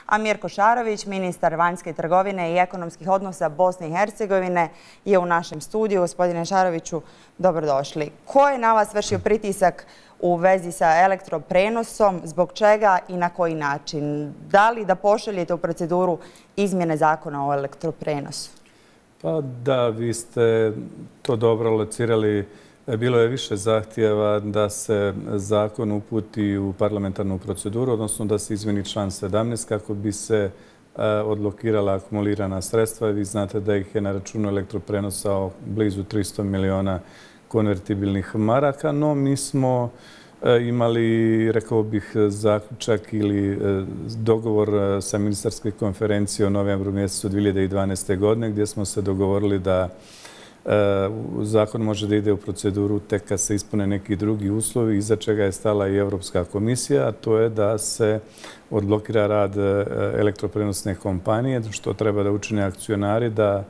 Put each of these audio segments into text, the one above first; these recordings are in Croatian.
a Mirko Šarović, ministar vanjske trgovine i ekonomskih odnosa Bosne i Hercegovine, je u našem studiju. Gospodine Šaroviću, dobrodošli. Ko je na vas vršio pritisak u vezi sa elektroprenosom, zbog čega i na koji način? Da li da pošaljete u proceduru izmjene zakona o elektroprenosu? Pa da, vi ste to dobro locirali. Bilo je više zahtjeva da se zakon uputi u parlamentarnu proceduru, odnosno da se izmjeni član 17 kako bi se odblokirala akumulirana sredstva. Vi znate da ih je na računu elektroprenosa blizu 300 miliona konvertibilnih maraka, no mi smo imali, rekao bih, zaključak ili dogovor sa ministarske konferencije u novembru mjesecu 2012. godine gdje smo se dogovorili da zakon može da ide u proceduru tek kad se ispune neki drugi uslovi, iza čega je stala i Europska komisija, a to je da se odblokira rad elektroprenosne kompanije, što treba da učine akcionari, da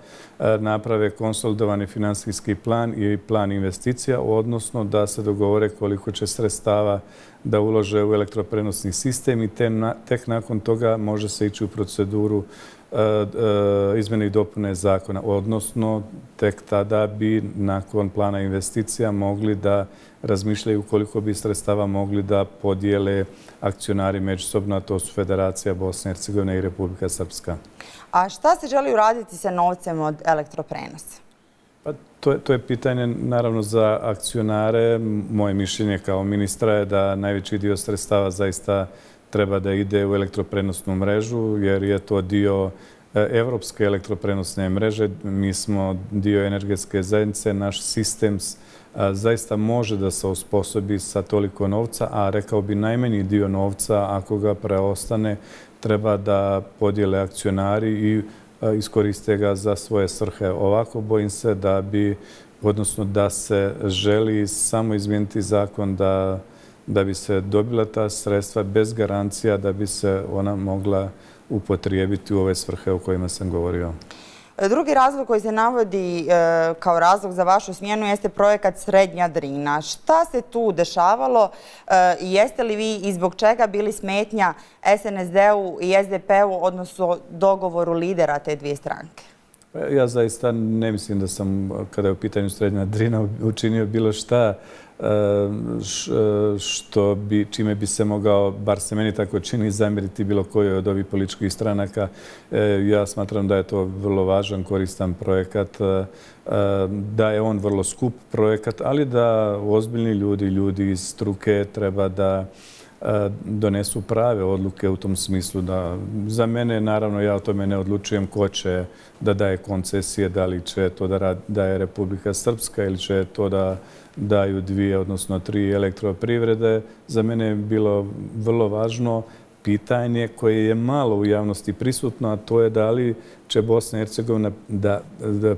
naprave konsolidovani finansijski plan i plan investicija, odnosno da se dogovore koliko će sredstava da ulože u elektroprenosni sistem i tek nakon toga može se ići u proceduru izmjene i dopune zakona, odnosno tek tada bi nakon plana investicija mogli da razmišljaju koliko bi sredstava mogli da podijele akcionari međusobno, a to su Federacija Bosne i Hercegovine i Republika Srpska. A šta se želi uraditi sa novcem od elektroprenosa? Pa to je pitanje naravno za akcionare. Moje mišljenje kao ministra je da najveći dio sredstava zaista treba da ide u elektroprenosnu mrežu, jer je to dio evropske elektroprenosne mreže. Mi smo dio energetske zajednice, naš sistem zaista može da se osposobi sa toliko novca, a rekao bi najmanji dio novca, ako ga preostane, treba da podijele akcionari i iskoriste ga za svoje svrhe. Ovako bojim se da bi, odnosno da se želi samo izmijeniti zakon da bi se dobila ta sredstva bez garancija da bi se ona mogla upotrijebiti u ove svrhe o kojima sam govorio. Drugi razlog koji se navodi kao razlog za vašu smjenu jeste projekat Srednja Drina. Šta se tu dešavalo i jeste li vi i zbog čega bili smetnja SNSD-u i SDP-u, odnosno dogovoru lidera te dvije stranke? Ja zaista ne mislim da sam, kada je u pitanju Srednja Drina, učinio bilo šta čime bi se mogao, bar se meni tako čini, zamjeriti bilo kojoj od ovih političkih stranaka. Ja smatram da je to vrlo važan, koristan projekat, da je on vrlo skup projekat, ali da ozbiljni ljudi iz struke treba da donesu prave odluke u tom smislu. Da za mene, naravno, ja o tome ne odlučujem ko će da daje koncesije, da li će to da daje Republika Srpska ili će to da daju 2, odnosno 3 elektroprivrede. Za mene je bilo vrlo važno pitanje koje je malo u javnosti prisutno, a to je da li će Bosna i Hercegovina da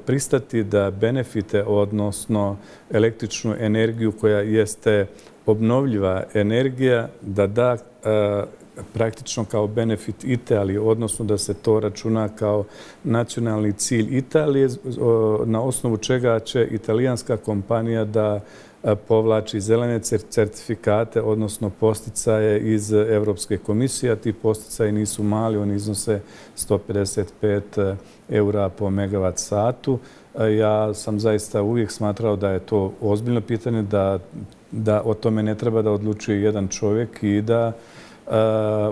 pristati da benefite, odnosno električnu energiju koja jeste obnovljiva energija, da praktično kao benefit Italije, odnosno da se to računa kao nacionalni cilj Italije, na osnovu čega će italijanska kompanija da povlači zelene certifikate, odnosno posticaje iz Evropske komisije. Ti posticaji nisu mali, oni iznose 155 eura po megavat satu. Ja sam zaista uvijek smatrao da je to ozbiljno pitanje, da o tome ne treba da odlučuje jedan čovjek i da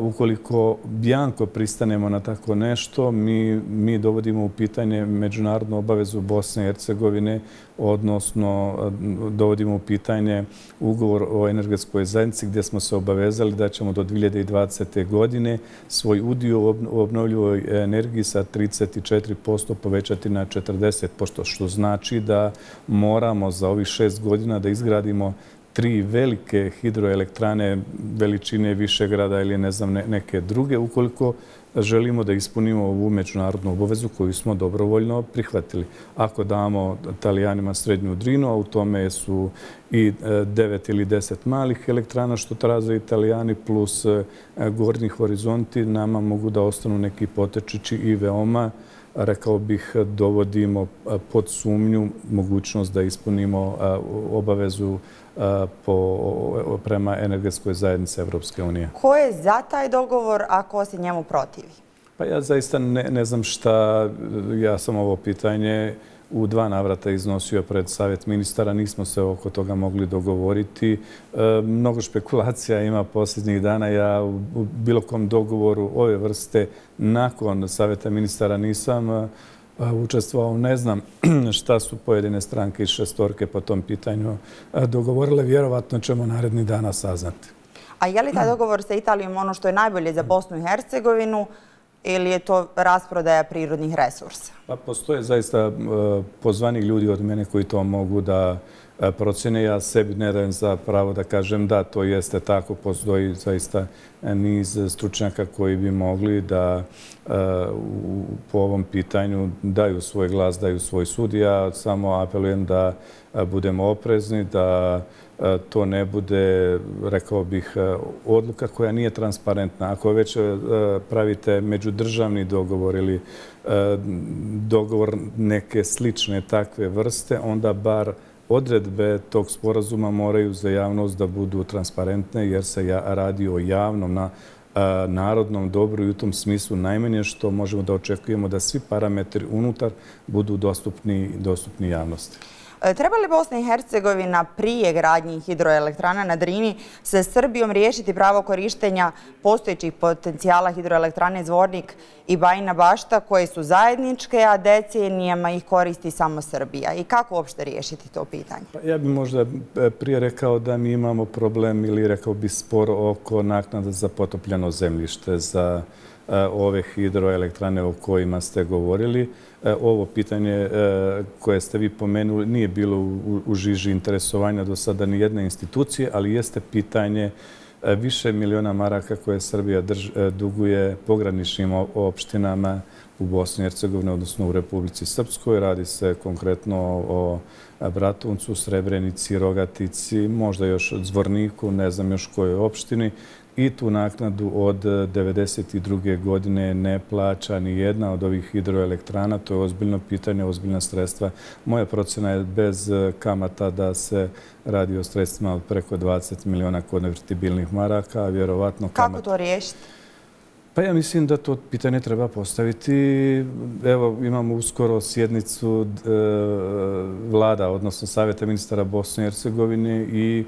ukoliko bjanko pristanemo na tako nešto, mi dovodimo u pitanje međunarodnu obavezu Bosne i Hercegovine, odnosno dovodimo u pitanje ugovor o energetskoj zajednici gdje smo se obavezali da ćemo do 2020. godine svoj udio u obnovljivoj energiji sa 34% povećati na 40%, što znači da moramo za ovih 6 godina da izgradimo 3 velike hidroelektrane veličine Višegrada ili ne znam neke druge, ukoliko želimo da ispunimo ovu međunarodnu obavezu koju smo dobrovoljno prihvatili. Ako damo Italijanima Srednju Drinu, a u tome su i 9 ili 10 malih elektrana što traže Italijani plus Gornji horizonti, nama mogu da ostanu neki potečići i veoma rekao bih, dovodimo pod sumnju mogućnost da ispunimo obavezu prema energetskoj zajednici Evropske unije. Ko je za taj dogovor, a ko se njemu protivi? Pa ja zaista ne znam šta, ja sam ovo pitanje u 2 navrata iznosio pred Savjet ministara, nismo se oko toga mogli dogovoriti. Mnogo špekulacija ima posljednjih dana. Ja u bilo kom dogovoru ove vrste nakon Savjeta ministara nisam učestvovao. Ne znam šta su pojedine stranke iz šestorke po tom pitanju dogovorile. Vjerovatno ćemo narednih dana saznati. A je li taj dogovor sa Italijom ono što je najbolje za Bosnu i Hercegovinu ili je to rasprodaja prirodnih resursa? Pa postoje zaista pozvani ljudi od mene koji to mogu da procjene. Ja sebi ne dajem za pravo da kažem da to jeste tako. Postoji zaista niz stručnjaka koji bi mogli da po ovom pitanju daju svoj glas, daju svoj sud. Ja samo apelujem da budemo oprezni, da to ne bude, rekao bih, odluka koja nije transparentna. Ako već pravite međudržavni dogovor ili dogovor neke slične takve vrste, onda bar odredbe tog sporazuma moraju za javnost da budu transparentne jer se radi o javnom narodnom dobru i u tom smislu najmanje što možemo da očekujemo da svi parametri unutar budu dostupni javnosti. Treba li Bosna i Hercegovina prije gradnje hidroelektrana na Drini sa Srbijom riješiti pravo korištenja postojećih potencijala hidroelektrane Zvornik i Bajina Bašta koje su zajedničke, a decenijama ih koristi samo Srbija? I kako uopšte riješiti to pitanje? Ja bih možda prije rekao da mi imamo problem ili rekao bih spor oko naknada za potopljeno zemljište za ove hidroelektrane o kojima ste govorili. Ovo pitanje koje ste vi pomenuli nije bilo u žiži interesovanja do sada ni jedne institucije, ali jeste pitanje više miliona maraka koje Srbija duguje pograničnim opštinama u Bosni i Hercegovini, odnosno u Republici Srpskoj. Radi se konkretno o Bratuncu, Srebrenici, Rogatici, možda još Zvorniku, ne znam još kojoj opštini. I tu naknadu od 1992. godine ne plaća ni jedna od ovih hidroelektrana. To je ozbiljno pitanje, ozbiljna sredstva. Moja procjena je bez kamata da se radi o sredstvima od preko 20 miliona konvertibilnih maraka. Vjerovatno kako to riješiti? Pa ja mislim da to pitanje treba postaviti. Evo, imamo uskoro sjednicu vlada, odnosno Savjeta ministara Bosne i Hercegovine i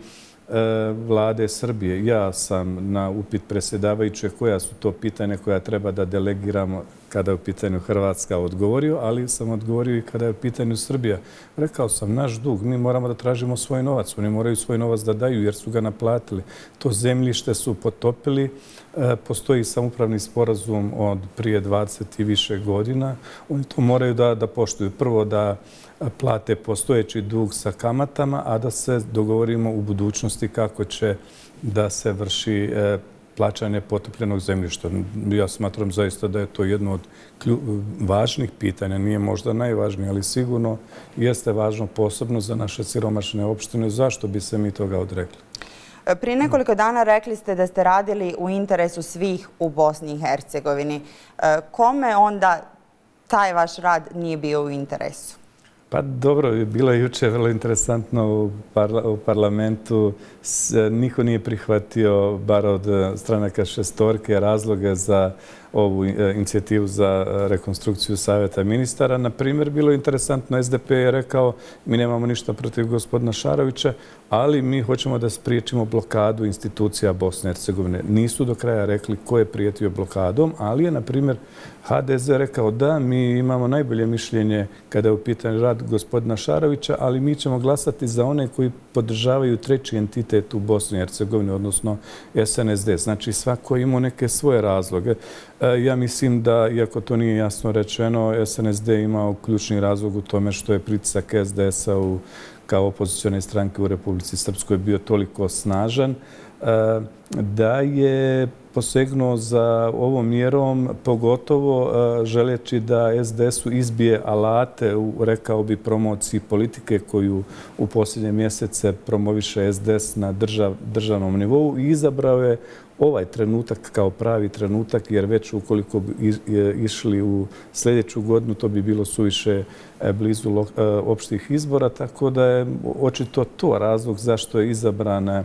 vlade Srbije. Ja sam na upit predsjedavajuće koja su to pitanja koja treba da delegiramo kada je u pitanju Hrvatska odgovorio, ali sam odgovorio i kada je u pitanju Srbija. Rekao sam, naš dug, mi moramo da tražimo svoj novac. Oni moraju svoj novac da daju jer su ga naplatili. To zemljište su potopili. Postoji samoupravni sporazum od prije 20 i više godina. Oni to moraju da poštuju. Prvo da plate postojeći dug sa kamatama, a da se dogovorimo u budućnosti kako će da se vrši plaćanje potopljenog zemljišta. Ja smatram zaista da je to jedno od važnih pitanja. Nije možda najvažnije, ali sigurno jeste važno posebno za naše siromašne opštine. Zašto bi se mi toga odrekli? Prije nekoliko dana rekli ste da ste radili u interesu svih u Bosni i Hercegovini. Kome onda taj vaš rad nije bio u interesu? Pa dobro, bilo je juče vrlo interesantno u parlamentu. Niko nije prihvatio, bar od stranaka šestorke, razloge za ovu inicijativu za rekonstrukciju Savjeta ministara. Na primjer, bilo je interesantno, SDP je rekao mi nemamo ništa protiv gospodina Šarovića, ali mi hoćemo da spriječimo blokadu institucija Bosne i Hercegovine. Nisu do kraja rekli ko je prijetio blokadom, ali je, na primjer, HDZ rekao da mi imamo najbolje mišljenje kada je u pitanju rad gospodina Šarovića, ali mi ćemo glasati za one koji podržavaju treći entitet u Bosni i Hercegovini, odnosno SNSD. Znači, svako imao neke svoje razloge. Ja mislim da, iako to nije jasno rečeno, SNSD imao ključni razlog u tome što je pritisak SDS-a kao opozicione stranke u Republici Srpskoj bio toliko snažan da je posegnuo za ovom mjerom, pogotovo želeći da SDS-u izbije alate u, rekao bi, promociji politike koju u posljednje mjesece promoviše SDS na državnom nivou i izabrao je ovaj trenutak kao pravi trenutak, jer već ukoliko bi išli u sljedeću godinu, to bi bilo suviše blizu opštih izbora, tako da je očito to razlog zašto je izabran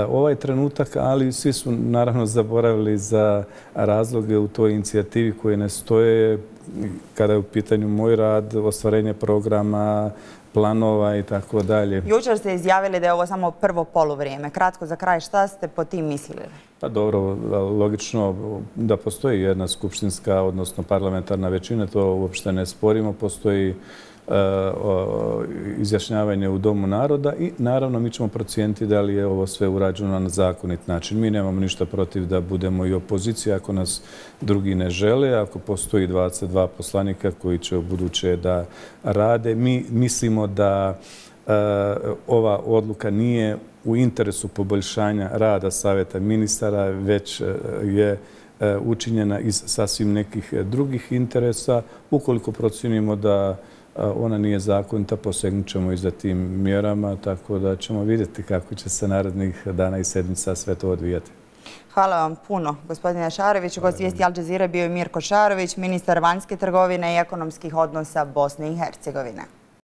ovaj trenutak, ali svi su naravno zaboravili za razloge u toj inicijativi koje ne stoje kada je u pitanju moj rad, ostvarenje programa, planova i tako dalje. Jučer ste izjavili da je ovo samo prvo poluvrijeme. Kratko za kraj, šta ste po tim mislili? Pa dobro, logično da postoji jedna skupštinska, odnosno parlamentarna većina, to uopšte ne sporimo, postoji izjašnjavanje u Domu naroda i naravno mi ćemo procijeniti da li je ovo sve urađeno na zakonit način. Mi nemamo ništa protiv da budemo i opozicija ako nas drugi ne žele, ako postoji 22 poslanika koji će u buduće da rade. Mi mislimo da ova odluka nije u interesu poboljšanja rada Savjeta ministara, već je učinjena iz sasvim nekih drugih interesa. Ukoliko procijenimo da ona nije zakonita, posegnut ćemo i za tim mjerama, tako da ćemo vidjeti kako će se narednih dana i sedmica sve to odvijati. Hvala vam puno, gospodine Šaroviću. Gost vijesti Al Jazeera bio je Mirko Šarović, ministar vanjske trgovine i ekonomskih odnosa Bosne i Hercegovine.